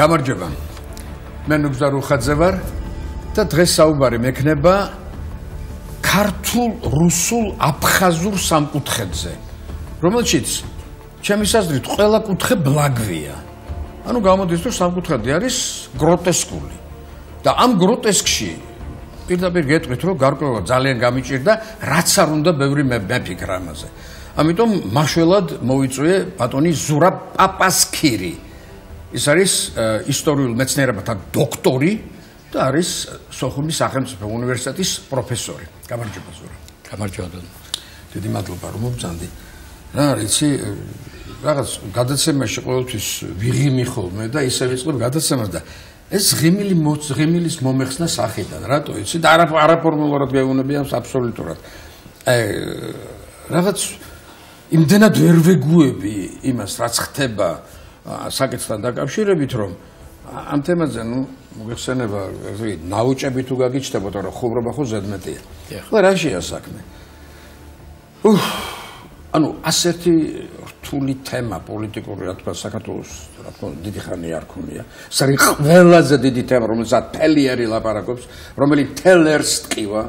გამარჯობა. მე ნუგზარ უხაძე ვარ და დღეს საუბარი მექნება ქართულ, რუსულ, აფხაზურ სამკუთხედზე, რომელშიც ჩემის აზრით ყველა კუთხე ბლაგვია. ანუ გამოდის რომ სამკუთხედი არის გროტესკული. და ამ გროტესკში პირდაპირ გეტყვით რომ გარკვეულად ძალიან გამიჭირდა, რაც არ უნდა ბევრი მეფიქრა ამაზე. ამიტომ მაშველად მოვიწვიე ბატონი ზურაბ პაპასქირი. ის არის ისტორიულ მეცნიერებათა დოქტორი და არის სოხუმის სახელმწიფო უნივერსიტეტის პროფესორი. გამარჯობა ზურაბ. გამარჯობა. დიდი მადლობა რომ მომწანდი. რა იცი რაღაც გადაცემაში ყოველთვის ვიღიმი ხოლმე და ისე ვიწყებ გადაცემას და ეს ღიმილის მომეხსნა სახიდან, რატო იცი და არაფორმულურად გეუბნები ამს აბსოლუტურად. რაღაც იმდენად ვერ ვეგუები იმას, რაც ხდება საკითხთან დაკავშირებით, რომ ამ თემაზე, მოგეხსენება, ნაუჭები თუ გაგიჩნდებოდა, რომ ხუბრობა ხო ზედმეტია. ხო, რაშია საქმე? ანუ ასეთი რთული თემა პოლიტიკური, რა თქმა უნდა, საქართველოს, რა თქმა უნდა, დიდი ხანი არ ქონია. ეს არის ყველაზე დიდი თემა, რომელსაც თელიერი ლაპარაკობს, რომელიც თელერს ტკივა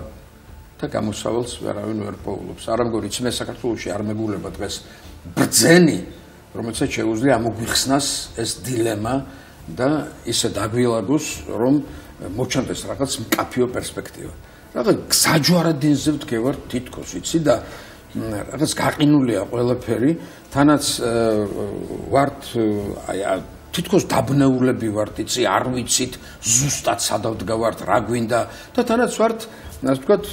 და გამოსავალს ვერავინ ვერ პოულობს. არა მგონი, მე საქართველოში არ მეგულება დღეს ბრძენი, რომელსაც შეუძლია ამოგვიხსნას ეს დილემა და ისე დაგვილაგოს, რომ მოჩანდეს რაღაც მკაფიო პერსპექტივა. რაღაც გზაჯვარედინზე ვდგევარ თითქოს, იცი და რაღაც გაყინულია ყველაფერი, თანაც ვართ თითქოს დაბნეულები ვართ, იცი, არ ვიცით ზუსტად სადავ დგავართ, რა გვინდა და თანაც ვართ, ასე ვთქვათ,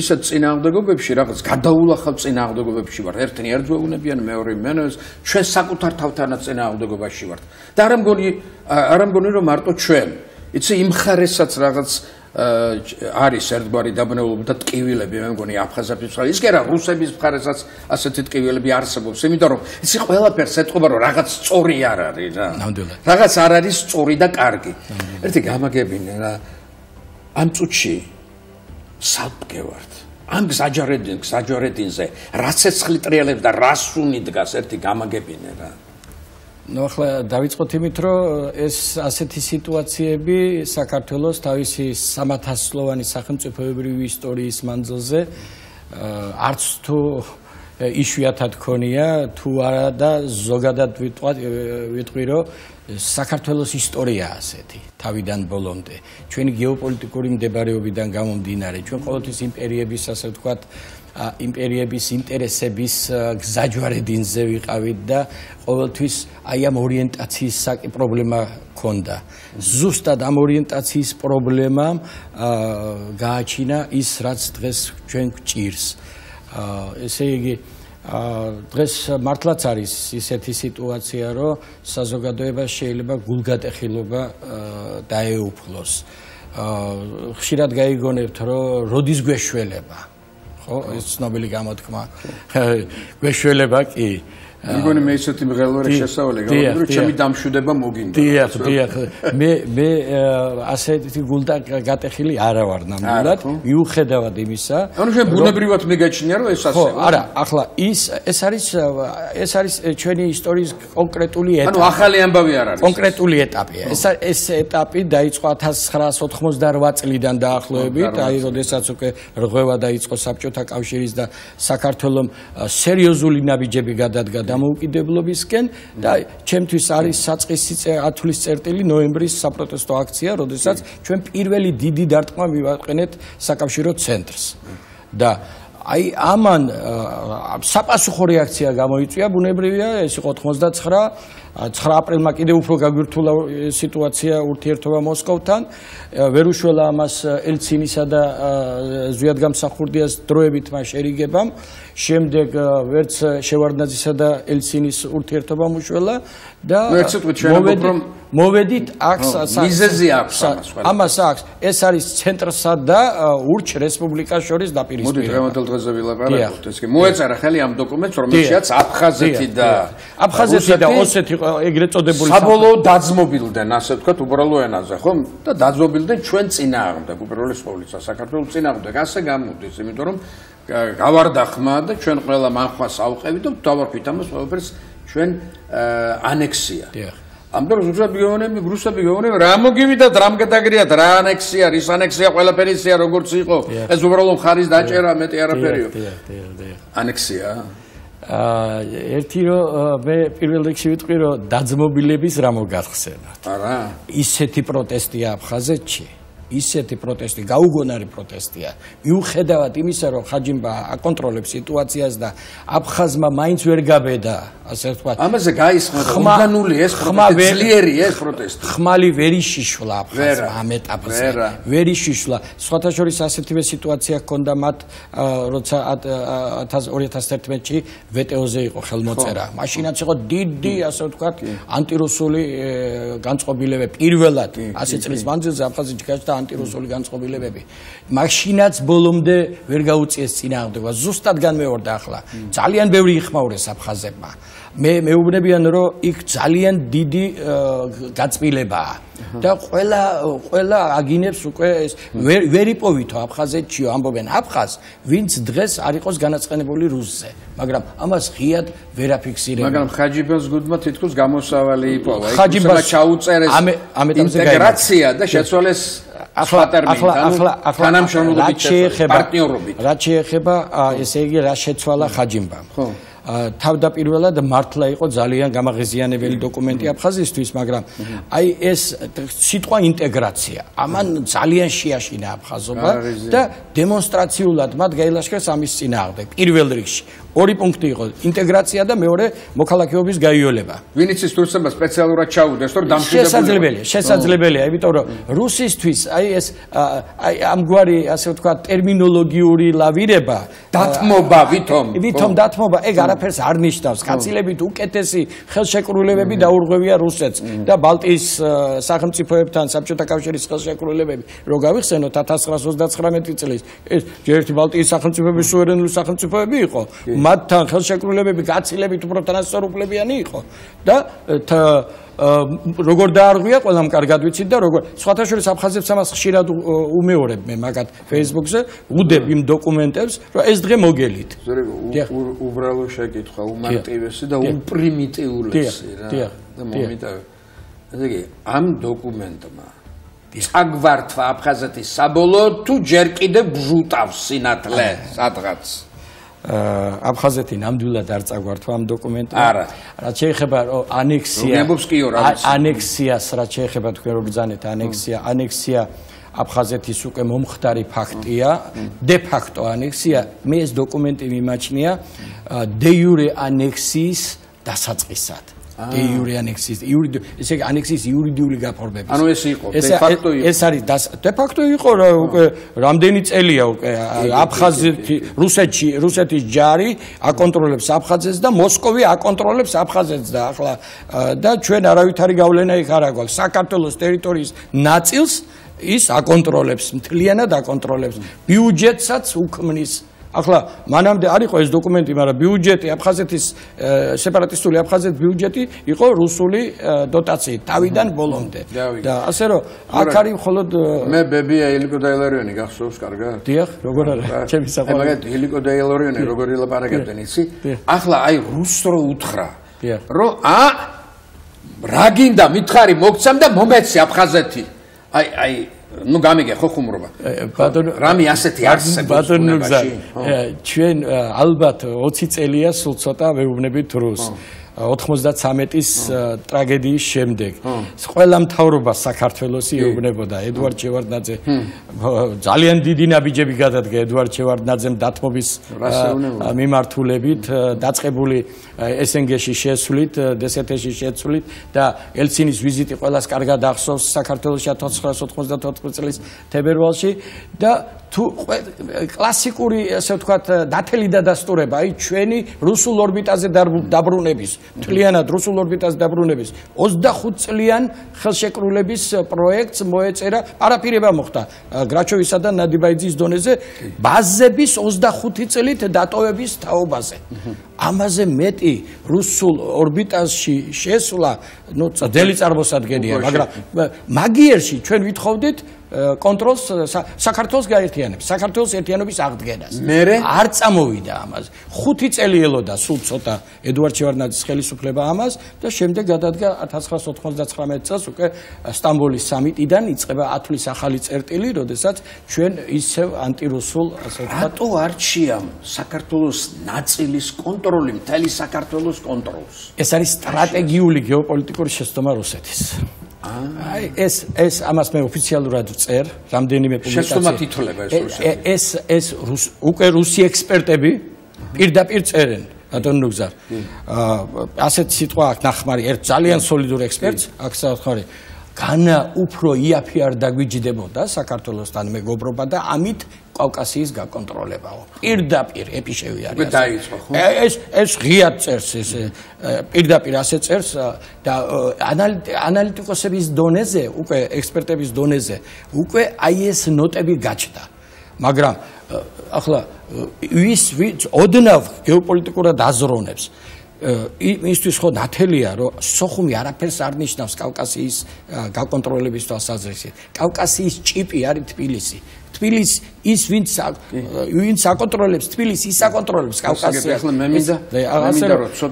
ისეთ წინააღმდეგობებში, რაღაც გადაულახავ წინააღმდეგობებში ვართ. ერთნი ერთ გვეუბნებიან, მეორე მენოს, ჩვენ საკუთარ თავთანაც წინააღმდეგობაში ვართ. და არ მგონი რომ მარტო ჩვენ, იცი, იმ ხარესაც რაღაც არის ერთგვარი დაბნეულობა და ტკივილები, მე მგონი აფხაზების მხარეს, ის კი არა, რუსების მხარესაც ასეთი ტკივილები არსებობს, იმიტომ რომ იცი ყველაფერს ეთყობა რომ რაღაც სწორი არ არის რა. ნამდვილად. რაღაც არ არის სწორი და კარგი. ერთი გამაგებინე რა. ამ წუთში სალპგევართ. ამ გზაჯვარედინზე რაც ეცხლი ტრიალებს და რას უნი დგას ერთი გამაგებინე რა. ახლა დავიწყოთ იმით, რომ ეს ასეთი სიტუაციები საქართველოს თავისი 300-წლოვანი სახელმწიფოებრივი ისტორიის მანძილზე არც თუ იშვიათად ქონია, თუ არა და ზოგადად ვიტყვი, რომ საქართველოს ისტორია ასეთი თავიდან ბოლომდე. ჩვენი გეოპოლიტიკური მდებარეობიდან გამომდინარე, ჩვენ ყოველთვის იმპერიების, ასე ვთქვათ, იმპერიების ინტერესების გზაჯვარედინზე ვიყავით და ყოველთვის აი ამ ორიენტაციის პრობლემა ჰქონდა. ზუსტად ამ ორიენტაციის პრობლემამ გააჩინა ის, რაც დღეს ჩვენ გვჭირს. ესე იგი, დღეს მართლაც არის ისეთი სიტუაცია, რომ საზოგადოებას შეიძლება გულგატეხილობა დაეუფლოს. ხშირად გაიგონებთ, რომ როდის გვეშველება. ხო, ეს ცნობილი გამოთქმა. გვეშველება კი. მგონი მე ისეთი მღელვარე შესავალი გავაკეთე, რომ ჩემი დამშვიდება მოგინდა. დიახ. მე ასეთი გულგატეხილი არა ვარ ნამდვილად, მიუხედავად იმისა. ანუ შენ ბუნებრივად მეგაჩნია, რომ ეს ასე. ხო, არა, ახლა ეს არის ჩვენი ისტორიის კონკრეტული ეტაპი. ანუ ახალი ამბავი არ არის. კონკრეტული ეტაპია. ეს ეტაპი დაიწყო 1988 წლიდან დაახლოებით, აი როდესაც უკვე რღვევა დაიწყო საბჭოთა კავშირის და საქართველოს სერიოზული ნაბიჯები გადადგა დამოუკიდებლობისკენ და ჩემთვის არის საწყისი ათვლის წერტილი ნოემბრის საპროტესტო აქცია, როდესაც ჩვენ პირველი დიდი დარტყმა მივაყენეთ საკავშირო ცენტრს. და აი ამან საპასუხო რეაქცია გამოიწვია, ბუნებრივია, ეს იყო 9 აპრილმა კიდევ უფრო გაგვირთულა სიტუაცია ურთიერთობა მოსკოვთან, ვერ უშველა ამას ელცინისა და ზვიადგამსახურდიას დროებით მას შერიგებამ, შემდეგ ვერც შევარდნაძისა და ელცინის ურთიერთობამ უშველა და მოვედით მიზეზი აქვს ამას აქვს, ეს არის ცენტრსა და ურჩ რესპუბლიკას შორის დაპირისპირება. მოდი დღევანდელ დღეზე ვილაპარაკოთ, ეს კი მოეწერა ხელი ამ დოკუმენტს, რომელშიც აფხაზეთი და ოსეთი ეგრეთ წოდებული საბოლოო დაძმობილდნენ, ასე ვთქვათ, უბრალო ენაზე, ხო? და დაძმობილდნენ ჩვენ წინააღმდეგ, უპირველეს ყოვლისა, საქართველოს წინააღმდეგ. ასე გამოდის, იმიტომ რომ გავარდა ხმა და ჩვენ ყველა მანხვას ავყევით და დავარქვით ამას ყველაფერს ჩვენ ანექსია. ამ დროს რუსები გეუბნები რა მოგივიდათ, რამ გადაგრიათ, რა ანექსია, რის ანექსია, ყველაფერია როგორც იყო. ეს უბრალოდ ხარის დაჭერა, მეტი არაფერია. ანექსია. ერთი რომ მე პირველ რიგში ვიტყვი რომ დაძმობილების რა მოგახსენათ. არა. ისეთი პროტესტია აფხაზეთში. ისეთი პროტესტი, გაუგონარი პროტესტია. მიუხედავად იმისა, რომ ხაჯიმბა აკონტროლებს სიტუაციას და აფხაზმა მაინც ვერ გაბედა, ასე ვთქვათ. ამაზე გაისხმა ორგანული ეს პროტესტი, ძლიერი ეს პროტესტი. ხმალი ვერ იშიშვლა აფხაზმა ამ ეტაპზე. ვერ იშიშვლა. სხვათა შორის ასეთივე სიტუაცია ჰქონდა მათ, როცა 2011-ში ვეტეოზე იყო ხელმოწერა. მაშინაც იყო დიდი, ასე ვთქვათ, ანტირუსული განწყობილებები პირველად 100 წლის მანძილზე აფხაზეთში გაჩნდა ანტირუსული განწყობილებები. მაშინაც ბოლომდე ვერ გაუწიეს წინააღმდეგობა. ზუსტად განმეორდა ახლა. ძალიან ბევრი იხმაურეს აფხაზებმა. მე მეუბნებიან რომ იქ ძალიან დიდი გაწმილებაა. და ყველა აგინებს უკვე ეს ვერ იპოვითო აფხაზეთშიო ამბობენ აფხაზ, ვინც დღეს არ იყოს განაცხენებული რუსზე. მაგრამ ამას ღიად ვერ აფიქსირებენ. მაგრამ ხაჯიბას გუდმა თითქოს გამოსავალი იპოვა. ხაჯიბას ჩაუწერეს ინტეგრაცია და შეცვალეს თანამშრომლობით პარტნიორობით. რაც შეეხება ესე იგი რა შეცვალა ხაჯიმბამ. ხო. თავდაპირველად მართლა იყო ძალიან გამაღიზიანებელი დოკუმენტი აფხაზისთვის, მაგრამ აი ეს სიტყვა ინტეგრაცია ამან ძალიან შეაშინა აფხაზობა და დემონსტრაციულად მათ გაილაშქრეს ამის წინააღმდეგ. პირველ რიგში ორი პუნქტი იყო ინტეგრაცია და მეორე მოქალაქეობის გაიოლება. ვინც ის რუსებმა სპეციალურად ჩაუდეს, რომ დამშვიდობელია. შესაძლებელია, იმიტომ რომ რუსისთვის აი ეს ამგვარი ასე ვთქვათ ტერმინოლოგიური ლავირება, დათმობა ვითომ დათმობა, ეგ არაფერს არ ნიშნავს. კაცილებით უკეთესი ხელშეკრულებები დაურღვევია რუსეთს და ბალტიის სახელმწიფოებთან საბჭოთა კავშირის ხელშეკრულებები რო გავიხსენოთ 1929 წლის ეს ერთი ბალტიის სახელმწიფოების სუვერენული სახელმწიფოები იყო. მათთან ხელშეკრულებები გაცილებით უფრო თანასწორუფლებიანი იყო და როგორ დაარღვია ყველამ კარგად ვიცით და როგორ სხვათა შორის აფხაზებს ამას ხშირად უმეორებ მე მაგათ Facebook-ზე უდებ იმ დოკუმენტებს რომ ეს დღე მოგელით. უბრალო შეკითხვა, უმარტივესი და უპრიმიტიულესი რა. და მომიტავე. ესე იგი ამ დოკუმენტმა წაგვართვა აფხაზეთის საბოლოოდ თუ ჯერ კიდევ ბჟუტავს სინათლე სადღაც. აფხაზეთი ნამდვილად არ წაგვართვა ამ დოკუმენტმა. არა. რაც შეეხება ანექსიას, რაც შეეხება თქვენ რო ბრძანეთ ანექსია აფხაზეთის უკვე მომხდარი ფაქტია, დე ფაქტო ანექსია, მე ეს დოკუმენტი მიმაჩნია დე იურე ანექსიის დასაწყისად. დე იურე ანექსიის, ესე იგი ანექსიის იურიდიული გაფორმების. ანუ ეს იყო, დე ფაქტო იყო. ეს არის დე ფაქტო იყო რა უკვე რამდენი წელია უკვე აფხაზეთი, რუსეთის ჯარი აკონტროლებს აფხაზეთს და მოსკოვი აკონტროლებს აფხაზეთს და ახლა და ჩვენ არავითარი გავლენა იქ არ აქვს. საქართველოს ტერიტორიის ნაწილს ის აკონტროლებს, მთლიანად აკონტროლებს. ბიუჯეტსაც უქმნის. ახლა მანამდე არ იყო ეს დოკუმენტი, მაგრამ ბიუჯეტი აფხაზეთის სეპარატისტული აფხაზეთის ბიუჯეტი იყო რუსული დოტაციით თავიდან ბოლომდე. და ასე რომ აქ არის მხოლოდ მე ბებია ილიკო დაილარიონი გახსოვს კარგად? დიახ, როგორ არა? ჩემი საყვარელი. მაგათ ილიკო დაილარიონი როგორ ილაპარაკებდნენ იცი? ახლა აი რუსს რო უთხრა. რომ რა გინდა მითხარი მოგცემ და მომეცი აფხაზეთი. აი ну გამიგე ხო ხუმრობა რამე ასეთი არსებობს ბატონო ჩვენ ალბათ 20 წელია სულ ცოტა ვეუბნებით რუსს 93-ის ტრაგედიის შემდეგ ყველა მთავრობა საქართველოს ეუბნებოდა ედვარდ შევარდნაძე ძალიან დიდი ნაბიჯები გადადგა ედვარდ შევარდნაძემ დათმობის მიმართულებით დაწყებული SNG-ში შესვლით DST-ში შესვლით და ელცინის ვიზიტი ყველას კარგად ახსოვს საქართველოში 1994 წლის თებერვალში და თუ კლასიკური ასე ვთქვათ დათელი დადასტურება აი ჩვენი რუსულ ორბიტაზე დაბრუნების მთლიანად რუსულ ორბიტაზე დაბრუნების 25 წლიან ხელშეკრულების პროექტს მოეწერა პარაფირება მოხდა გრაჩოვისა და ნადიბაიძის დონეზე ბაზების 25 წლით დატოვების თაობაზე ამაზე მეტი რუსულ ორბიტაში შესვლა ნუ ძელი წარმოსადგენია მაგრამ მაგიერში ჩვენ ვითხოვდით კონტროლს საქართველოს გაერთიანებს, საქართველოს ერთიანობის აღდგენას. არ წამოვიდა ამაზე. 5 წელი ელოდა სულ ცოტა ედუარდ შევარდნაძის ხელისუფლება ამას და შემდეგ გადადგა 1999 წელს უკვე სტამბოლის სამიტიდან იწყება ათვლის ახალი წერტილი, როდესაც ჩვენ ისევ ანტირუსულ ასე ვთქვათ, რატო არჩია საქართველოს ნაწილის კონტროლი, მთელი საქართველოს კონტროლს? ეს არის სტრატეგიული გეოპოლიტიკური შეცდომა რუსეთის. აი ეს ამას მე ოფიციალურად ვწერ, რამდენიმე პუბლიკაცია. შეცდომა თითოლება ეს რუსეთი. უკვე რუსი ექსპერტები პირდაპირ წერენ. ბატონო ნუგზარ. ასეთ სიტყვა აქვს ნახმარი, ერთ ძალიან სოლიდურ ექსპერტს, აქ სათხარი. განა უფრო იაფი არ დაგვიჯდებოდა საქართველოსთან მეგობრობა და ამით კავკასიის გაკონტროლებაო. პირდაპირ ეპიშევი არის. დაიწყო ხო? ეს ღიად წერს ეს პირდაპირ ასე წერს და ანალიტიკოსების დონეზე, უკვე ექსპერტების დონეზე, უკვე აი ეს ნოტები გაჩნდა. მაგრამ ახლა ვის ოდნავ გეოპოლიტიკურად აზროვნებს იმისთვის ხო ნათელია რომ სოხუმი არაფერს არ ნიშნავს კავკასიის გაკონტროლების თვალსაზრისით. კავკასიის ჭიპი არის თბილისი. თბილისი ის ვინც აკონტროლებს თბილისი ის აკონტროლებს კავკასიას.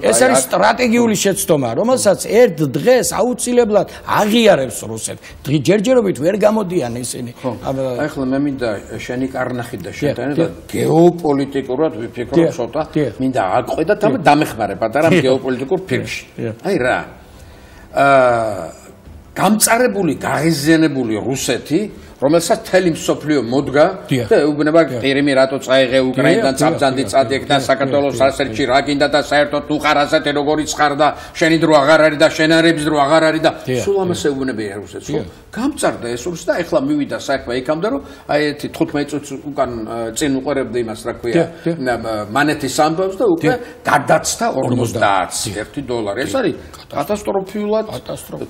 ეს არის სტრატეგიული შეცდომა, რომელსაც ერთ დღეს აუცილებლად აღიარებს რუსეთი. ჯერჯერობით ვერ გამოდიან ისინი. აი ახლა მე მინდა შენი კარნახი და შეტანა და გეოპოლიტიკურად ვიფიქრო ცოტა. მინდა აყვედათ და დამეხმარე პატარა გეოპოლიტიკურ ფილმში. აი რა. გამწარებული, გაღიზიანებული რუსეთი რომელსაც თელი მსოფლიო მოდგა და უბნება ყირიმი რატო წაიღე უკრაინიდან წაბძანდი წადიეკდა საქართველოს ასერჩი რა გინდა და საერთოდ თუ ხარ ასეთი როგორიც ხარ და შენი დრო აღარ არის და შენარების დრო აღარ არის და სულ ამასე უბნებია რუსეთს ხო გამწარდა ეს რუსი და ეხლა მივიდა საქმე იქამდე რომ აი ერთი 15 წუთს უკან წინ უყურებდი იმას რა ქვია მანეთის ამბავს და უკვე გადაცდა $50 ეს არის კატასტროფულად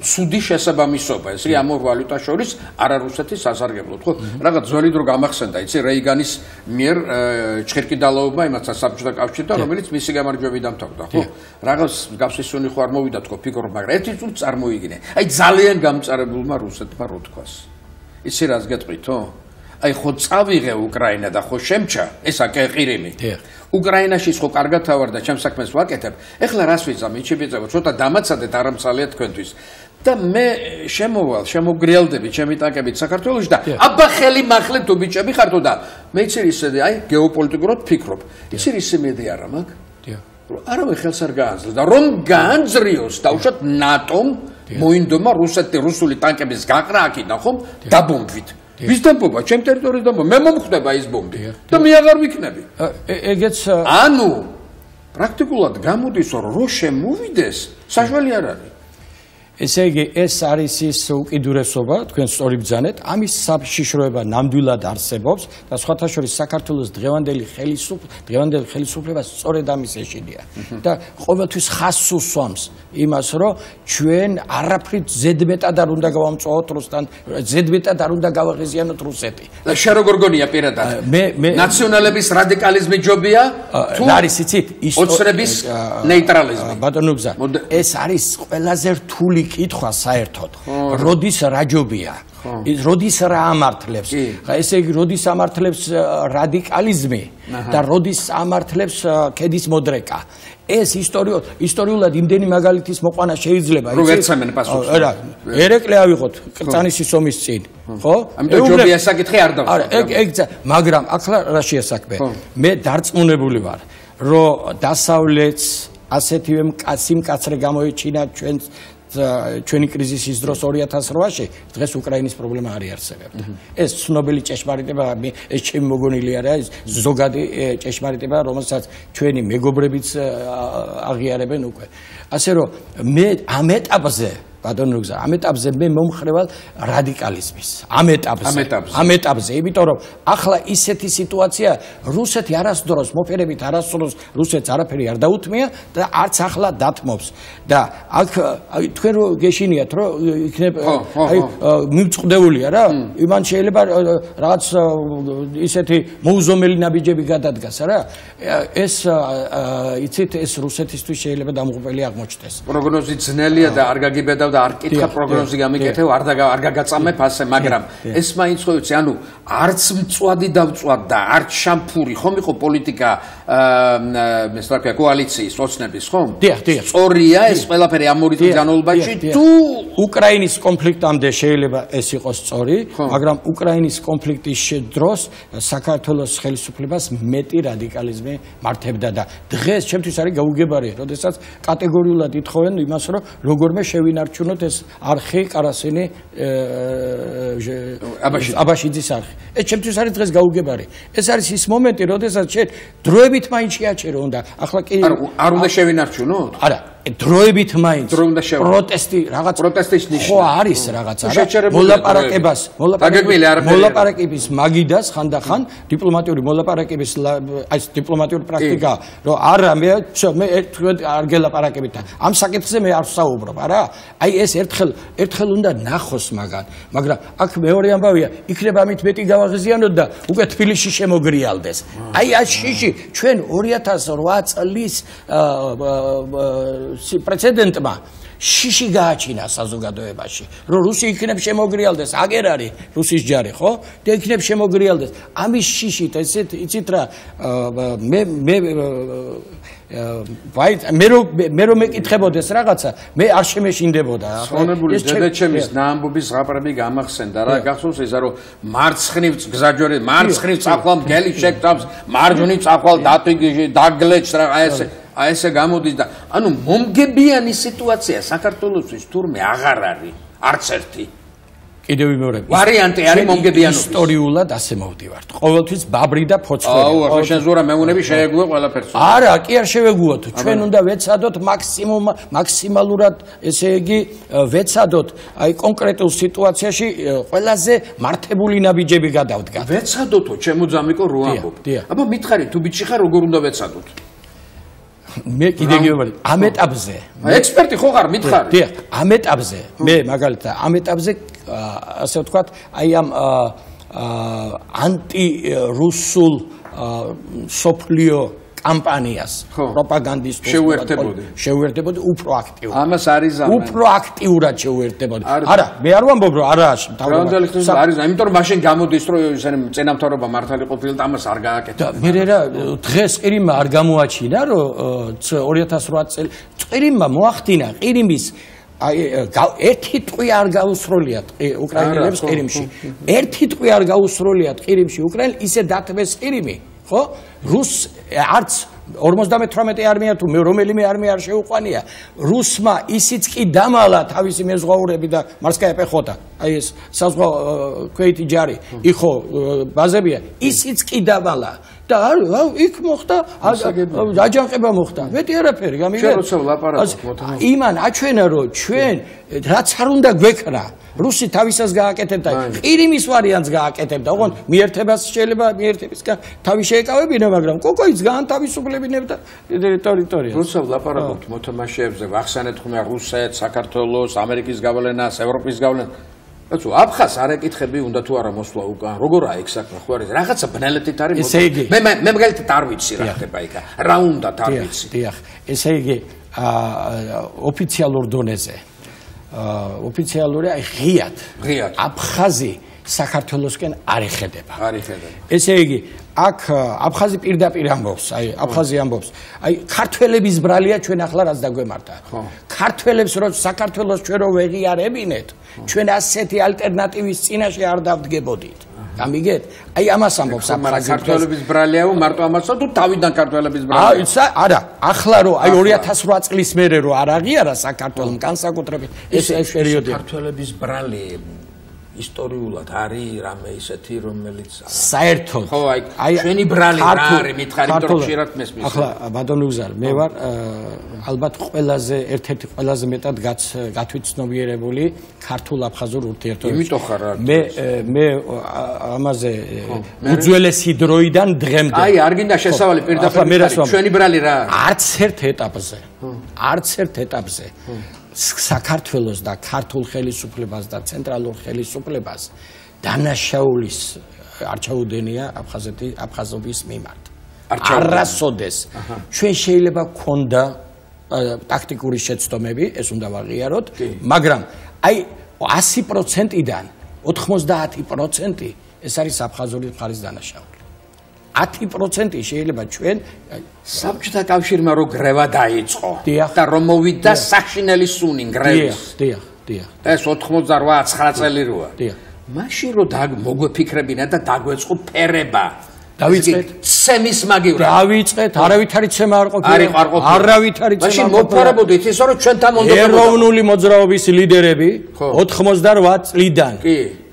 ცუდი შესაბამისობა ეს ამ ორ ვალუტას შორის არარუსეთის ასარგებლოდ ხო რაღაც ძველი დრო გამახსენდა იცი რეიგანის მიერ ჩხერკიდალოობა იმასაც საბჭოთა კავშირთან რომელიც მისი გამარჯვებით დამთავრდა ხო რაღაც გაფსისუნი ხო არ მოვიდა თქო ფიქრობ მაგრამ ერთი წუთი წარმოიგინე აი ძალიან გამწარებულმა რუსეთმა რო თქვას იცი რას გეტყვითო აი ხო წავიღე უკრაინა და ხო შემჩა ესა ყირიმი უკრაინაში ხო კარგად თავარდა ჩემ საქმეს ვაკეთებ ეხლა რას ვიზამ იჩიბეწევ ცოტა დამაცადეთ არამცალია თქვენთვის და მე შემოგრიალდები ჩემი ტანკებით საქართველოში და აბა ხელი მახლე თუ ბიჭები ხართო და მე იცი ისე აი გეოპოლიტიკურად ფიქრობ იცი ისე მედი არა მაგ არავე ხელს არ გაანძლეს და რომ გაანძრიოს დაუშვათ ნატომ მოინდომა რუსული ტანკების გაყრა აქედან ხომ დაბომბვით ვის დამბობა ჩემ ტერიტორიაზე დამბობა მე მომხვდება ის ბომბი და მე აღარ ვიქნები ეგეც ანუ პრაქტიკულად გამოდის რომ შემოვიდეს საშველი არ არის ესე იგი ეს არის ის უკიდურესობა თქვენ სწორი ბრძანეთ ამის საშიშროება ნამდვილად არსებობს და სხვათა შორის საქართველოს დღევანდელი ხელისუფლება სწორედ ამის ეშინია და ყოველთვის ხაზს უსვამს იმას რომ ჩვენ არაფრით ზედმეტად არ უნდა გავამწვავოთ რუსთან ზედმეტად არ უნდა გავაღიზიანოთ რუსეთი და შენ როგორ გონია პირადად ნაციონალების რადიკალიზმი ჯობია თუ არის იცით ოცნების ნეიტრალიზმი ბატონო გზა ეს არის ყველაზე რთული კითხვა საერთოდ როდის რაჯობია როდის რა ამართლებს ესე იგი როდის ამართლებს რადიკალიზმი და როდის ამართლებს ქედის მოდრეკა ეს ისტორიულად იმდენი მაგალითის მოყვანა შეიძლება რო ვერცამენ პასუხს რა ერეკლე ავიღოთ კრწანისის ომის წინ ხო ამიტომ ჯობია საკითხი არ დავსვა ეგ მაგრამ ახლა რა შეასაქმე მე დარწმუნებული ვარ რომ დასავლეთს ასეთივე სიმკაცრე გამოიჩინა ჩვენი კრიზისის დროს 2008-ში დღეს უკრაინის პრობლემა არ იარსებებდა. ეს ცნობილი ჭეშმარიტება, ეს ჩემი მოგონილი არა, ეს ზოგადი ჭეშმარიტება, რომელსაც ჩვენი მეგობრებიც აღიარებენ უკვე. ასე რომ მე ამ ეტაპზე ბატონო გზა, ამ ეტაპზე მე მომხრევალ რადიკალიზმის. ამ ეტაპზე, იმიტომ რომ ახლა ისეთი სიტუაცია რუსეთი არასდროს მოფერებით არასდროს რუსეთს არაფერი არ დაუთმია და არც ახლა დათმობს. და აქ თქვენ რო გეშინიათ რომ იქნებ აი მიმწყდეულია რა, იმან შეიძლება რაღაც ისეთი მოუზომელი ნაბიჯები გადადგას რა. ეს იცით ეს რუსეთისთვის შეიძლება დამღუპელი აღმოჩნდეს. პროგნოზი ძნელია და არ გაგიბედავ და არ კითხა პროგნოზი გამიკეთებ, არ გაგაწამებ ასე, მაგრამ ეს მაინც ხო ვიცი, ანუ არც მწვადი დავწვად და არც შამფური, ხომ იყო პოლიტიკა ეს რა ქვია, კოალიციის ოცნების, ხომ? დიახ. სწორია ეს ყველაფერი ამ ორი წლის განმავლობაში თუ უკრაინის კონფლიქტამდე შეიძლება ეს იყოს სწორი, მაგრამ უკრაინის კონფლიქტის დროს საქართველოს ხელისუფლებას მეტი რადიკალიზმი მართებდა და დღეს ჩემთვის არის გაუგებარი, როდესაც კატეგორიულად ითხოვენ იმას, რომ როგორმე შევინარჩუნოთ ეს არხი კარასინი აბაშიძის არხი. ეს ჩემთვის არის დღეს გაუგებარი. ეს არის ის მომენტი, როდესაც შენ დროებით მაინც შეაჩერო უნდა. ახლა კი არ უნდა შევინარჩუნოთ? არა, დროებით მაინც პროტესტი რაღაც პროტესტის ნიშნა ხო არის რაღაც არა მოლაპარაკების მაგიდას ხანდახან დიპლომატიური მოლაპარაკების აი დიპლომატიური პრაქტიკა რომ არა მე არ გელაპარაკებით და ამ საკითხზე მე არ ვსაუბრობ არა აი ეს ერთხელ უნდა ნახოს მაგრამ აქ მეორე ამბავია იქნება ამით მეტი გავაღიზიანოთ და უკვე თბილისში შემოგრიალდეს აი ეს შიში ჩვენ 2008 წლის პრეცედენტმა შიში გააჩინა საზოგადოებაში რომ რუსი იქნებ შემოგრიალდეს აგერ არის რუსის ჯარი ხო და იქნებ შემოგრიალდეს ამის შიშით ესეთ იცით რა მე რომ მეკითხებოდეს რაღაცა მე არ შემეშინდებოდა ხონებული დედაჩემის ნაამბობის ზღაპრები გამახსენდა რა გახსოვს ისა რომ მარცხნივ გზაჯვარი მარცხნივ წახვალ მგელი შეკტავს მარჯვნივ წახვალ დაგლეჭს რა აი ესე გამოდის და ანუ მომგებიანი სიტუაცია საქართველოსთვის თურმე აღარ არის არც ერთი კიდევ ვიმეორებ ვარიანტი არის მომგებიანობის ისტორიულად ასე მოვდივართ ყოველთვის ბაბრი და ფოცხვერი აუ ახლა შენ ზურა მეუნები შეეგუე ყველაფერს არა კი არ შევეგუოთ ჩვენ უნდა ვეცადოთ მაქსიმალურად ესე იგი ვეცადოთ აი კონკრეტულ სიტუაციაში ყველაზე მართებული ნაბიჯები გადავდგა ვეცადოთო ჩემო ძამიკო რო ამბობ აბა მითხარი თუ ბიჭი ხარ როგორ უნდა ვეცადოთ მე კიდე გიომარი ამ ეტაპზე ექსპერტი ხო ხარ მითხარი დიახ ამ ეტაპზე მე მაგალითად ამ ეტაპზე ასე ვთქვათ აი ამ ანტი რუსულ სოფლიო კამპანიას პროპაგანდისტულ შევერთებოდი უფრო აქტიურად ამას არის ზამა უფრო აქტიურად შევერთებოდი არა მე არ ვამბობ რომ არა თავდადალი ხსნის არის ამიტომ რომ მაშინ გამოდის რომ ისინი წინამთავრობა მართალი ყოფილა და ამას არ გააკეთა მე რა დღეს ყირიმმა არ გამოაჩინა რომ 2008 წელი ყირიმმა მოახდინა ყირიმის აი ერთი ტყვი არ გაუსროლიათ უკრაინელებს ყირიმში ერთი ტყვი არ გაუსროლიათ ყირიმში უკრაინელ ისე დათმეს ყირიმი ხო რუს არც 58 არმია თუ რომელიმე არმია არ შეუყვანია რუსმა ისიც კი დამალა თავისი მეზღვაურები და მარსკაია პეხოტა აი ეს საზღვაო ქვეითი ჯარი იხო ბაზებია ისიც კი დამალა და იქ მოხდა აჯანყება მოხდა მეტი არაფერი გამიგე იმან აჩვენა რომ ჩვენ რაც არ უნდა გვეკრა რუსი თავისას გააკეთებდა ყირიმის ვარიანტს გააკეთებდა ოღონდ მიერთებას შეიძლება მიერთებისგან თავი შეეკავებინა მაგრამ კოკოიც გაანთავისუფლებინებდა ტერიტორიას რუსა ვლაპარაკობთ მოთამაშეებზე ვახსენეთ ხომ რუსეთს საქართველოს ამერიკის გავლენას ევროპის გავლენას აცო აფხას არ ეკითხები უნდა თუ არა მოსვლა უკან როგორ აი ეს საქმე ხო არის რაღაცა ბნელეთით არის მე მაგალითად არ ვიცი რა ხდება იქა რა უნდა არ ვიცი დიახ ესე იგი ოფიციალურ დონეზე ოფიციალური აი ღიად აფხაზი საქართველოსკენ არ ეხედება ესე იგი აქ აფხაზი პირდაპირ ამბობს აი აფხაზი ამბობს აი ქართველების ბრალია ჩვენ ახლა რაც დაგვემართა ქართველებს რო საქართველოს ჩვენ რო ვეღიარებინეთ ჩვენ ასეთი ალტერნატივის წინაშე არ დავდგებოდით გამიგეთ აი ამას ამბობს აფხაზი ქართველების ბრალიაო მარტო ამასო თუ თავიდან ქართველების ბრალია არა ახლა რო აი 2008 წლის მერე რო არ აღიარა საქართველოს განსაკუთრებით ეს პერიოდი ქართველების ბრალია ისტორიულად არის რამე ისეთი რომელიც საერთოდ ხო აი ჩვენი ბრალი რა არის მითხარი იმიტომ რომ ხშირად მესმის ახლა ბატონო უზარ მე ვარ ალბათ ყველაზე ერთ-ერთი ყველაზე მეტად გათვითცნობიერებული ქართულ აფხაზურ ურთიერთობებში იმიტომ ხარ მე ამაზე უძველესი დროიდან დღემდე აი არ გინდა შესავალი პირდაპირ ჩვენი ბრალი რა არც ერთ ეტაპზე საქართველოს და ქართულ ხელისუფლებას და ცენტრალურ ხელისუფლებას დანაშაულის არ ჩაუდენია აფხაზობის მიმართ. არასოდეს ჩვენ შეიძლება გქონდა ტაქტიკური შეცდომები, ეს უნდა ვაღიაროთ, მაგრამ აი 100%-დან 90% ეს არის აფხაზური მხარის დანაშაული. 10% შეიძლება ჩვენ საბჭოთა კავშირმა რო გრევა დაიწყო და რომ მოვიდა საშინელი სუნი გრევის. დიახ. ეს 88-9 წელი როა. მაშინ რო მოგვეფიქრებინა და დაგვეწყო ფერება. დავიწყეთ ცემის მაგივრად. დავიწყეთ, არავითარი ცემა არ ყოფილა. არავითარი ცემა. მაშინ მოვფარებოდით ისე რომ ჩვენთან უნდა ეროვნული მოძრაობის ლიდერები 88 წლიდან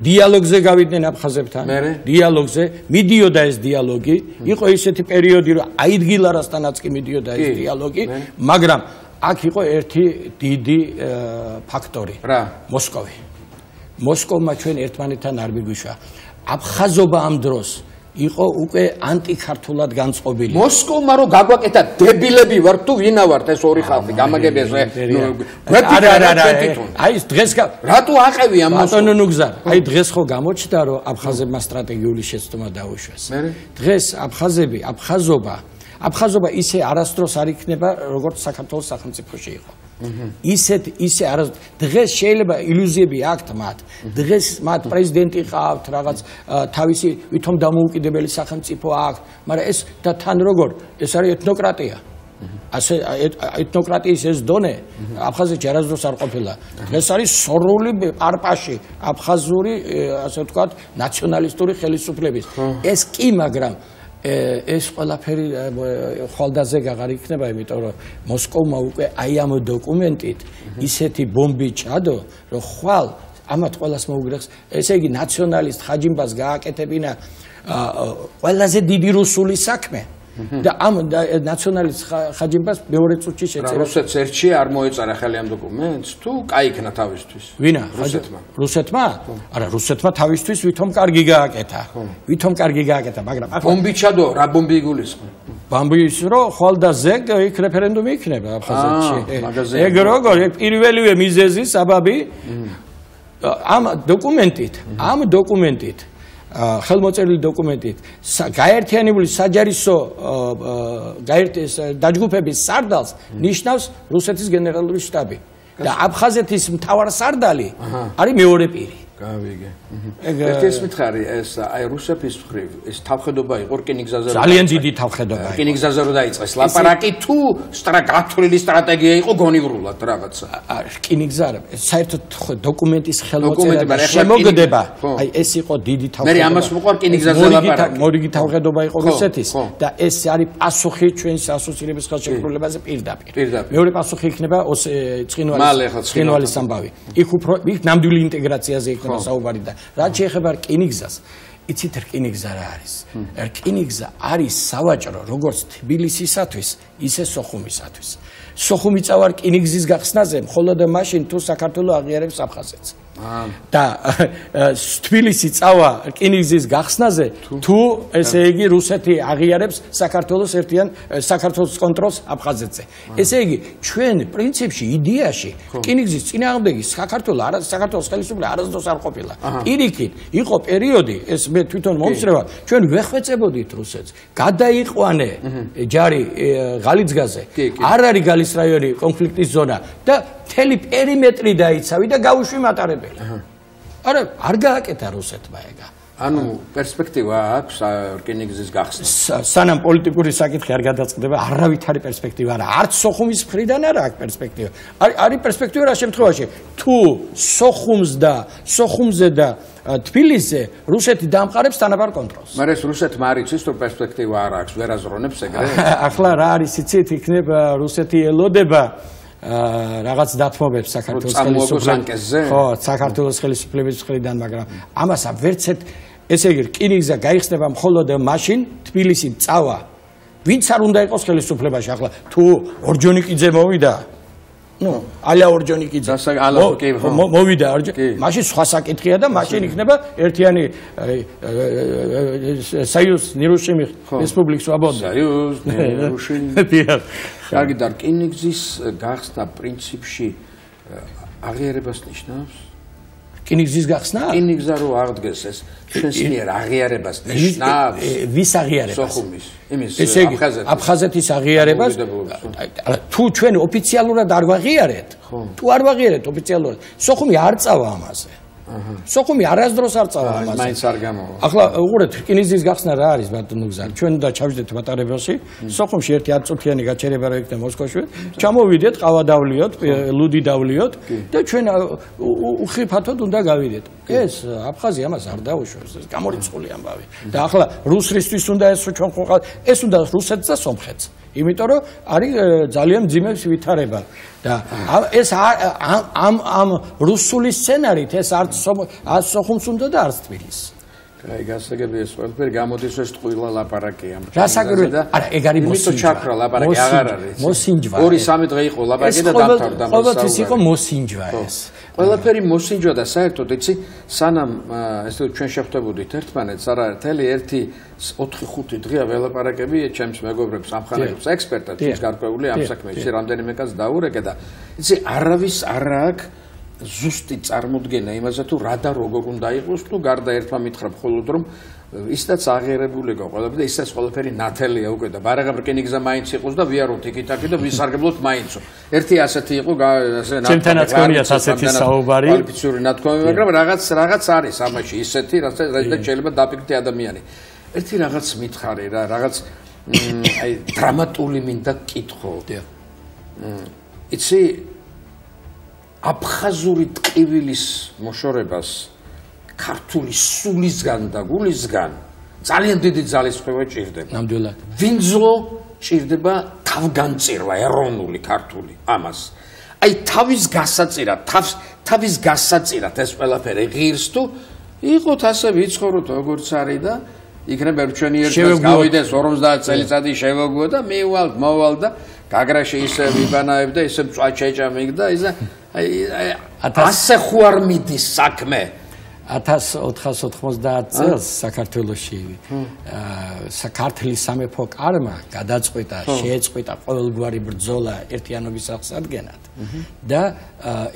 დიალოგზე გავიდნენ აფხაზებთან. დიალოგზე მიდიოდა ეს დიალოგი, იყო ისეთი პერიოდი რომ აიდგილარასთანაც კი მიდიოდა ეს დიალოგი, მაგრამ აქ იყო ერთი დიდი ფაქტორი. მოსკოვი. მოსკოვმა ჩვენ ერთმანეთთან არ მიგვიშვა. აფხაზობა ამ დროს იყო უკვე ანტიქართულად განწყობილი. მოსკოვმა რო გაგვაკეთა დებილები ვარ თუ ვინა ვართ ეს ორი ხალხი გამაგებია აი ეს დღეს რატო აყევია მოსკოვი ნუგზა აი დღეს ხო გამოჩნდა რომ აფხაზებმა სტრატეგიული შეცდომა დაუშვეს. დღეს აფხაზობა ისე არასდროს არ იქნება როგორც საქართველოს სახელმწიფოში იყო. ისე დღეს შეიძლება ილუზიები აქვთ მათ. დღეს მათ პრეზიდენტი ყავთ, რაღაც თავისი ვითომ დამოუკიდებელი სახელმწიფო აქვთ, მაგრამ ეს და თან როგორ ეს არის ეთნოკრატია. ასე ეთნოკრატიის ეს დონე აფხაზეთში არასდროს არ ყოფილა. დღეს არის სორული პარპაში აფხაზური ასე ვთქვათ ნაციონალისტური ხელისუფლების. ეს კი მაგრამ ეს ყველაფერი ხვალდაზე აღარ იქნება, იმიტომ რომ მოსკოვმა უკვე აი ამ დოკუმენტით ისეთი ბომბი ჩადო, რომ ხვალ ამათ ყველას მოუგრეხს, ესე იგი ნაციონალისტ ხაჯიმბას გააკეთებინა ყველაზე დიდი რუსული საქმე. და ამ ნაციონალისტ ხაჯიმბას მეორე წუთში შეწერა. რუსეთს ერთში არ მოეწარა ხელი ამ დოკუმენტს თუ კაიქნა თავისთვის? ვინა? რუსეთმა? არა, რუსეთმა თავისთვის ვითომ კარგი გააკეთა, მაგრამ ბომბი ჩადო, რა ბომბი იგულისხმე? ბომბის რო ხვალ და ზეგ იქ რეფერენდუმი იქნება აფხაზეთში. ეგ როგორ პირველივე მიზეზი საბაბი ამ დოკუმენტით ხელმოწერილი დოკუმენტით გაერთიანებული საჯარისო დაჯგუფების სარდალს ნიშნავს რუსეთის გენერალური შტაბი და აფხაზეთის მთავარსარდალი არის მეორე პირი. გავიგე. ეს მითხარი ეს აი რუსეთის მხრივ ეს თავხედობა იყო რკინიგზაზე ძალიან დიდი თავხედობა იყო. რკინიგზაზე რო დაიწყეს ლაპარაკი თუ გათვლილი სტრატეგია იყო გონივრულად რაღაცა. რკინიგზა საერთოდ დოკუმენტის ხელმოწერა და შემოგდება. აი ეს იყო დიდი თავხედობა. მე ამას მოყვა რკინიგზაზე ლაპარაკი. მორიგი თავხედობა იყო რუსეთის და ეს არის პასუხი ჩვენს ასოცირების ხელშეკრულებაზე პირდაპირ. მეორე პასუხი იქნება ცხინვალის ამბავი. იქ უფრო ნამდვილი ინტეგრაციაზე იქნება საუბარი და რაც შეეხება რკინიგზას, იცით რკინიგზა რა არის? რკინიგზა არის სავაჭრო როგორც თბილისისათვის, ისე სოხუმისათვის. სოხუმი წავა რკინიგზის გახსნაზე მხოლოდ მაშინ თუ საქართველოს აღიარებს აფხაზეთს. და თბილისი წავა რკინიგზის გახსნაზე თუ ესე იგი რუსეთი აღიარებს საქართველოს კონტროლს აფხაზეთზე. ესე იგი ჩვენ პრინციპში იდეაში რკინიგზის წინააღმდეგი საქართველოს ხელისუფლება არასდროს არ ყოფილა. პირიქით იყო პერიოდი ეს მე თვითონ მომსწრება ჩვენ ვეხვეწებოდით რუსეთს. გადაიყვანე ჯარი ღალიცგაზე. არ არის გალის რაიონი კონფლიქტის ზონა და მთელი პერიმეტრი დაიცავი და გაუშვი მატარებელი. არა, არ გააკეთა რუსეთმა ეგა. ანუ პერსპექტივა აქვს რკინიგზის გახსნას. სანამ პოლიტიკური საკითხი არ გადაწყდება, არავითარი პერსპექტივა არა. არც სოხუმის მხრიდან არა აქვს პერსპექტივა. არის პერსპექტივა რა შემთხვევაში, თუ სოხუმზე და თბილისზე რუსეთი დამყარებს თანაბარ კონტროლს. მაგრამ ეს რუსეთმა არ იცის რომ პერსპექტივა არ აქვს, ვერ აზრონებს ეგრე. ახლა რა არის იცით, იქნება რუსეთი ელოდება რაღაც დათმობებს საქართველოს ხელისუფლების საქართველოს ხელისუფლების მხრიდან, მაგრამ ამას ვერც ერთ ესე იგი რკინიგზა გაიხსნება მხოლოდ მაშინ თბილისი წავა ვინც არ უნდა იყოს ხელისუფლებაში. ახლა თუ ორჯონიკიძე მოვიდა ალა ორჯონიკიძე მოვიდა მაშინ სხვა საკითხია და მაშინ იქნება ერთიანი საიუზ ნირუშიმი რესპუბლიკა სვაბოდა. საიუზ ნირუშიმი. კარგი და რკინიგზის გახსნა პრინციპში აღიარებას ნიშნავს? რკინიგზის გახსნა? რკინიგზა რო აღდგეს ეს ჩვენს მიერ აღიარებას ნიშნავს. ვის აღიარებას? სოხუმის. იმის აფხაზეთის აღიარებას. თუ ჩვენ ოფიციალურად არ ვაღიარეთ, თუ არ ვაღიარეთ ოფიციალურად, სოხუმი არ წავა ამაზე. სოხუმი არასდროს არ წავა ამაზე. მაინც არ გამოვა. ახლა უყურეთ, რკინიგზის გახსნა რა არის ბატონო გზა? ჩვენ და ჩავიდეთ მატარებელში, სოხუმში ერთი 10 წუთიანი გაჩერება რო იქნება მოსკოვში, ჩამოვიდეთ, ყავა დავლიოთ, ლუდი დავლიოთ და ჩვენ უხიფათოდ უნდა გავიდეთ. ეს აფხაზი ამას არ დაუშვებს, ეს გამორიცხული ამბავი. და ახლა რუსრისთვის უნდა ეს ჩვენ ხო ეს უნდა რუსეთს და სომხეთს. იმიტომ რომ არის ძალიან ძიმებს ვითარება და ეს ამ რუსული სცენარით ეს არც სოხუმს უნდა და არც თბილისს. აი გასაგებია ეს ყველაფერი გამოდის ეს ტყუილა ლაპარაკია. გასაგებია. არა, ეგ არის მოსინჯვა. იმიტომ ჩაქრა ლაპარაკი აღარ არის. მოსინჯვა. 2-3 დღე იყო ლაპარაკი და დამთავრდა. ყოველთვის იყო მოსინჯვა ეს. ყველაფერი მოსინჯვა და საერთოდ იცი სანამ ესე ჩვენ შეხვდებოდით ერთმანეთს არა მთელი 1-4-5 დღეა ველაპარაკები ჩემს მეგობრებს ამხანაგებს ექსპერტად ის გარკვეული ამ საქმეში რამდენიმე კაც დაურეკე და იცი არავის არ აქვს ზუსტი წარმოდგენა იმაზე თუ რა და როგორ უნდა იყოს თუ გარდა ერთმა მითხრა მხოლოდ რომ ისედაც აღიარებული იყო ყველაფერი და ისედაც ყველაფერი ნათელია უკვე და ბარაღა რკინიგზა მაინც იყოს და ვიაროთ იქით-აქეთ და ვისარგებლოთ მაინცო. ერთი ასეთი იყო ასე ჩემთანაც გონიათ ასეთი საუბარი. კვალიფიციური ნათქვამი, მაგრამ რაღაც არის ამაში ისეთი, რასაც შეიძლება დაფიქრდე ადამიანი. ერთი რაღაც მითხარი რა, რაღაც აი დრამატული მინდა კითხო. იცი აფხაზური ტყივილის მოშორებას ქართული სულისგან და გულისგან ძალიან დიდი ძალისხმევა ჭირდება. ნამდვილად. ვინძლო ჭირდება თავგანწირვა ეროვნული ქართული ამას. აი თავის გასაწირად ეს ყველაფერი ღირს თუ იყოთ ასე ვიცხოვროთ როგორც არის და იქნება ჩვენი ერთად გავიდეს 50 წელიწადი შევაგო და მოვალ და გაგრაში ისე ვიბანაებ და ისე წვაჩეჭამიგ და ისე ასე ხوار მიდის საქმე 1490 წელს საქართველოში საქართველოს სამეფო კარმა გადაწყვიტა შეეწყვიტა ყოველგვარი ბრძოლა ერთიანობის აღსადგენად და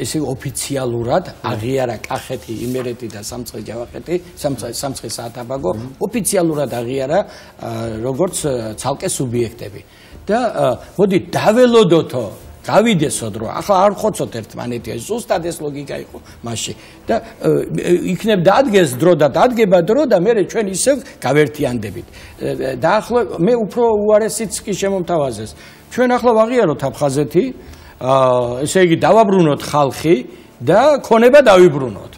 ესე ოფიციალურად აღიარა კახეთი, იმერეთი და სამცხე-ჯავახეთი, სამცხე-საათაბაგო ოფიციალურად აღიარა როგორც ცალკე სუბიექტები და მოდი დაველოდოთო გავიდესოდ რომ ახლა არ ხოცოთ ერთმანეთი ზუსტად ეს ლოგიკა იყო მასში და იქნებ დადგეს დრო და დადგება დრო და მე ჩვენ ისევ გავერთიანდებით და ახლა მე უფრო უარესიც კი შემომთავაზეს ჩვენ ახლა ვაღიაროთ აფხაზეთი ესე იგი დავაბრუნოთ ხალხი და ქონება დავიბრუნოთ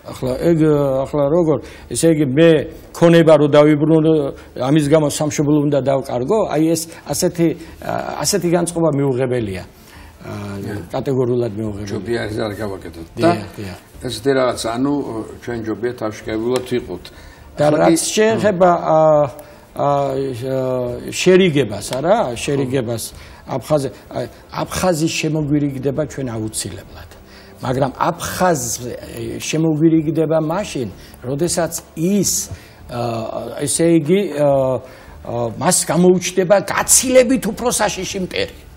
ახლა როგორ ესე იგი მე ქონება რო დავიბრუნო ამის გამო სამშობლო უნდა დავკარგო აი ეს ასეთი განწყობა მიუღებელია კატეგორიულად მიუღებელია ჯობია ეს არ გავაკეთოთ და ესეთი რაღაც ანუ ჩვენ ჯობია თავშეკავებულად ვიყოთ და რაც შეეხება შერიგებას არა შერიგებას აფხაზის შემოგვირიგდება ჩვენ აუცილებლად მაგრამ აფხაზ შემოგვირიგდება მაშინ როდესაც ის ესე იგი მას გამოუჩნდება გაცილებით უფრო საშიში მტერი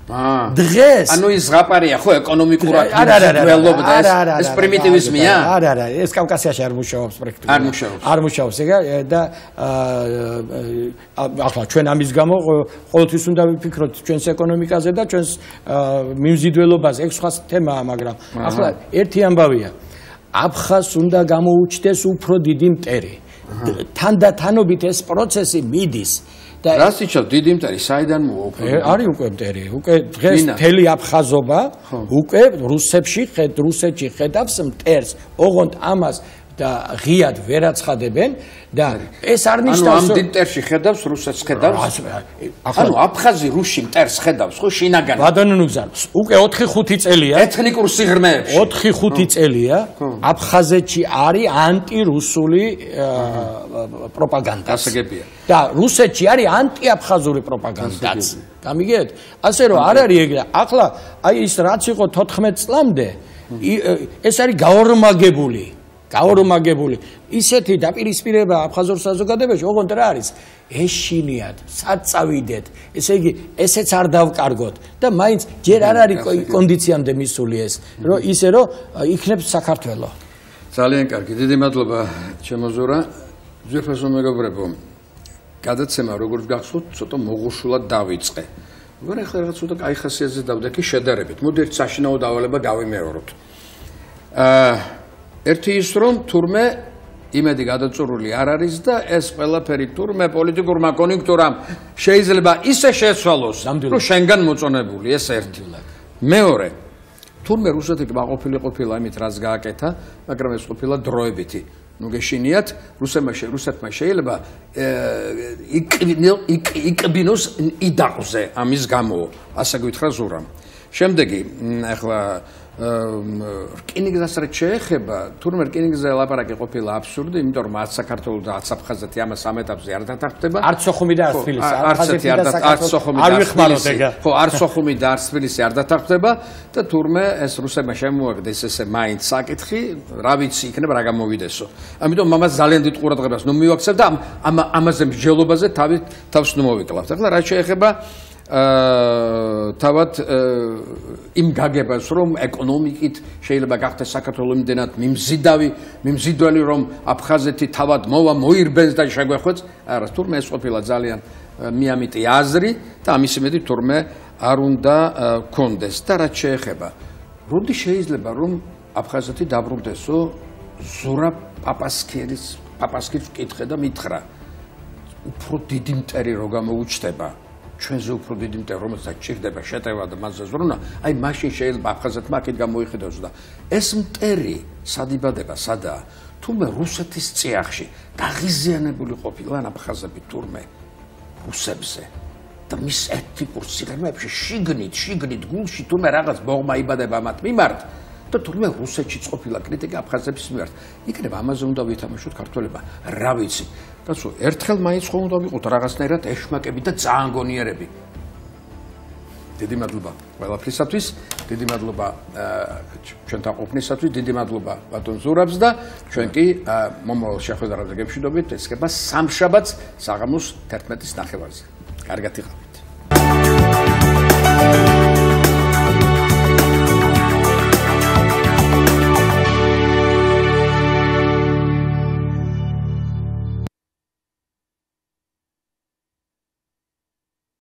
დღეს ანუ ის ზღაპარია ხო ეკონომიკურად ველობდა ეს პრიმიტივიზმია არა ეს კავკასიაში არ მუშაობს პრაქტიკულად არ მუშაობს ეგა და ახლა ჩვენ ამის გამო ყოველთვის უნდა ვიფიქროთ ჩვენს ეკონომიკაზე და ჩვენს მიმზიდველობაზე ეგ სხვა თემაა მაგრამ ახლა ერთი ამბავია აფხაზს უნდა გამოუჩნდეს უფრო დიდი მტერი თანდათანობით ეს პროცესი მიდის რას იცავ დიდი მტერი საიდან მოვა უფრო არის უკვე მტერი უკვე დღეს მთელი აფხაზობა უკვე რუსეთში ხედავს მტერს ოღონდ ამას და ღიად ვერაცხადებენ და ეს არ ნიშნავს ამ მტერში ხედავს რუსეთს ხედავს ანუ აფხაზი რუსში მტერს ხედავს ხო შინაგან ბატონო უკვე 4-5 წელია ეთნიკურ სიღრმეებში 4-5 წელია აფხაზეთში არის ანტირუსული პროპაგანდა გასაგებია და რუსეთში არის ანტიაფხაზური პროპაგანდაც გამიგეთ ასე რომ არ არის ეგრე ახლა აი ის რაც იყო 14 წლამდე ეს არის გაორმაგებული ისეთი დაპირისპირება აფხაზურ საზოგადოებაში ოღონდ რა არის ეშინიათ საწავიდეთ ესე იგი ესეც არ დავკარგოთ და მაინც ჯერ არ არის კონდიციამდე მისული ეს რომ ისე რომ იქნებს საქართველო ძალიან კარგი, დიდი მადლობა ჩემო ზურა. ძვირფასო მეგობრებო, გადაცემა როგორც გახსოვთ, ცოტა მოღუშულად დავიწყე. მაგრამ ახლა რაღაც ცოტა კაი ხასიათზე დავდექი შედარებით. მოდი ერთ საშინაო დავალება გავიმეოროთ. ერთი ის რომ თურმე იმედი გადაწურული არ არის და ეს ყველაფერი თურმე პოლიტიკურმა კონიუნქტურამ შეიძლება ისე შეცვალოს, რომ შენგან მოწონებული, ეს ერთი. მეორე, თურმე რუსეთი კმაყოფილი ყოფილა იმით, რაც გააკეთა, მაგრამ ეს ყოფილა დროებითი. ნუ გეშინიათ, რუსეთმა შეიძლება იკბინოს იდაყზე ამის გამო, ასე გითხრა ზურამ. შემდეგი, ახლა რკინიგზას რაც შეეხება, თურმე რკინიგზაზე ლაპარაკი ყოფილა აბსურდი, იმიტომ რომ არც საქართველო და არც აფხაზეთი ამას ამ ეტაპზე არ დათანხმდება. არც სოხუმი და არც თბილისი, არც სოხუმი და არც თბილისი არ დათანხმდება და თურმე ეს რუსებმა შემოაგდეს ესე მაინც საკითხი, რა ვიცი, იქნება რა გამოვიდესო. ამიტომ ამას ძალიან დიდ ყურადღებას ნუ მივაქცევ და ამაზე მსჯელობაზე თავს ნუ მოვიკლავთ. ახლა რაც შეეხება თავად იმ გაგებას რომ ეკონომიკით შეიძლება გახდეს საქართველოს იმდენად მიმზიდველი რომ აფხაზეთი თავად მოირბენს და შეგვეხვეწ არა თურმე ეს ყოფილა ძალიან მიამიტი აზრი და ამის იმედი თურმე არ უნდა გქონდეს და რაც შეეხება როდი შეიძლება რომ აფხაზეთი დაბრუნდესო ზურა პაპასკირის ვკითხე და მითხრა უფრო დიდი მტერი რო გამოუჩნდება ჩვენზე უფრო დიდი მტერი რომელსაც ჭირდება შეტევა და მასზე ზრუნა აი მაშინ შეიძლება აფხაზეთმა აქეთ გამოიხედოს და ეს მტერი სადიბადება სადაა თუმე რუსეთის წიაღში გაღიზიანებული ყოფილან აფხაზები თურმე რუსებზე და მის ეთნიკურ სიღრმეებში შიგნით გულში თუმე რაღაც ბოღმა იბადება მათ მიმართ და თურმე რუსეთში ყოფილა კრიტიკა აფხაზების მიმართ იქნება ამაზე უნდა ვითამაშოთ ქართველებმა რა ვიცი კაცო ერთხელ მაინც ხომ უნდა ვიყოთ რაღაცნაირად ეშმაკები და ძაანგონიერები დიდი მადლობა ყველაფრისათვის დიდი მადლობა ჩვენთან ყოფნისათვის დიდი მადლობა ბატონ ზურაბს და ჩვენ კი მომავალ შეხვედრაზე გემშვიდობით ეს ხება სამშაბათს საღამოს 11:30-ზე კარგად იყავ